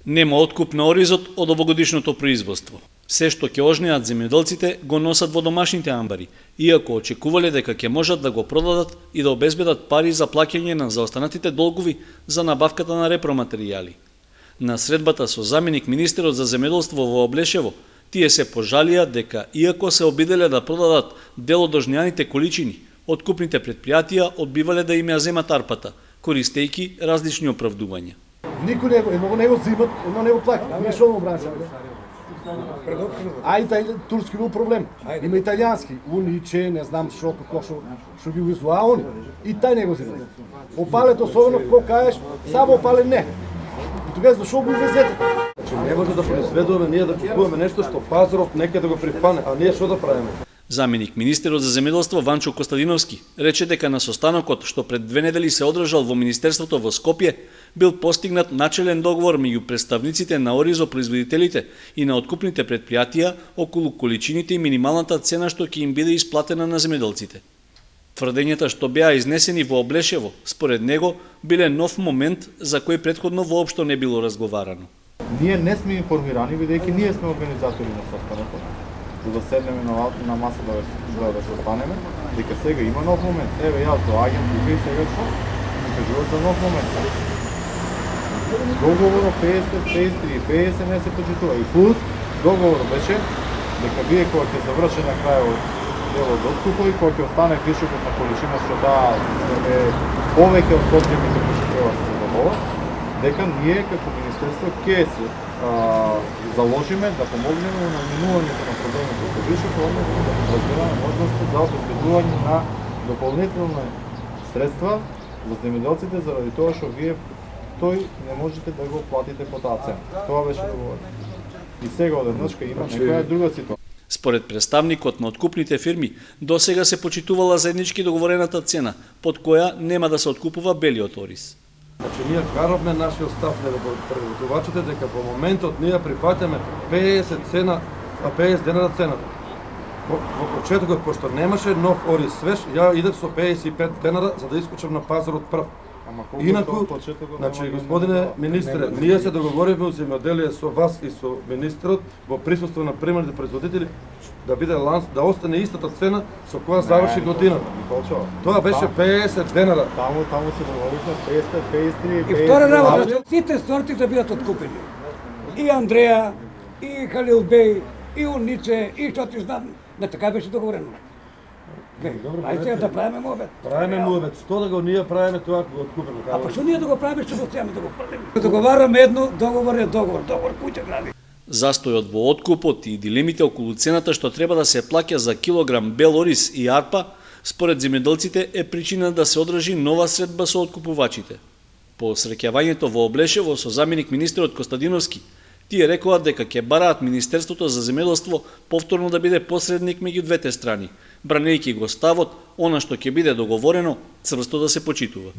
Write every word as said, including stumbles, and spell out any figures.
Нема откуп на оризот од овогодишното производство. Се што ќе ожнеат земјоделците го носат во домашните амбари, иако очекувале дека ќе можат да го продадат и да обезбедат пари за плаќање на заостанатите долгови за набавката на репроматеријали. На средбата со заменик министерот за земјоделство во Облешево, тие се пожалија дека иако се обиделе да продадат дел од ожнеаните количини, откупните предпријатија одбивале да им ја земат арпата, користејќи различни оправдувања. Никој не го, едно не го зимат, едно не го плаќа. Ние што го бранчаме? А и тај турски има проблем. Има италијански, униче, не знам што како што што ги увезува они. И тај не го зимат. Опалет особено кога кажеш, само опалет не. И тогаш зашо го увезете? Значи не може да произведуваме ние да купуваме нешто што пазарот некаде да го прифане, а ние што да правиме? Заменик министерот за земјоделство Ванчо Костадиновски рече дека на состанокот што пред две недели се одржал во министерството во Скопје бил постигнат начелен договор меѓу представниците на оризопроизводителите и на откупните предпријатија околу количините и минималната цена што ќе им биде исплатена на земјоделците. Тврдењата што беа изнесени во Облешево, според него, биле нов момент за кој претходно воопшто не било разговарано. Ние не сме информирани, бидејќи ние сме организатори на состанокот, за да седнеме на, на маса да, да, да се останеме, дека сега има нов момент. Еве јас доаѓам тука и сега што? Ми кажуват за нов момент. Договорот петдесет, петдесет и три, петдесет не се почитува. И плюс договорот беше дека вие кога ќе заврши на крајот делот откупот и кога ќе остане вишокот на количина што да е повеќе од потребните кои што треба да се заболат, дека ние како министерство ќе се а, заложиме да помогнеме на наминувањето на проблемите со вишокот, односно да разгледаме можности за обезбедување на дополнителни средства за земјоделците заради тоа што вие тој не можете да го платите по таа цена. Тоа беше договорено. И сега одеднашка има некоја друга ситуација. Според представникот на откупните фирми, досега се почитувала заеднички договорената цена, под која нема да се откупува белиот ориз. Значи ние каравме нашиот став на преводувачите дека во моментот ние прифаќаме петдесет цена, а петдесет денара цената. Во, во почетокот, пошто немаше нов ориз свеж, ја идев со петдесет и пет денара за да искочам на пазарот прв. Инаку, значи, господине министре, ние се договоривме у земјоделие со вас и со министрот во присуство на примерните производители да биде ланс, да остане истата цена со која заврши годината. Тоа беше петдесет денара. Таму, таму се договоривме петдесет, петдесет и три, петдесет. И втора работа, сите сорти да бидат откупени. И Андреја, и Халил Беј, и Униче, и што ти знам, не така беше договорено. Ајде да правиме муабет. Правиме муабет. Што да го ние правиме тоа го откупиме? А па што ние да го правиме, што го цеаме да го правиме? Договараме едно, договор е договор, договор куќа гради. Застојот во откупот и дилемите околу цената што треба да се плаќа за килограм бел ориз и арпа, според земјоделците е причина да се одржи нова средба со откупувачите. По среќавањето во Облешево со заменик министерот Костадиновски, тие рекоа дека ќе бараат Министерството за земјоделство повторно да биде посредник меѓу двете страни, бранејќи го ставот, она што ќе биде договорено, цврсто да се почитува.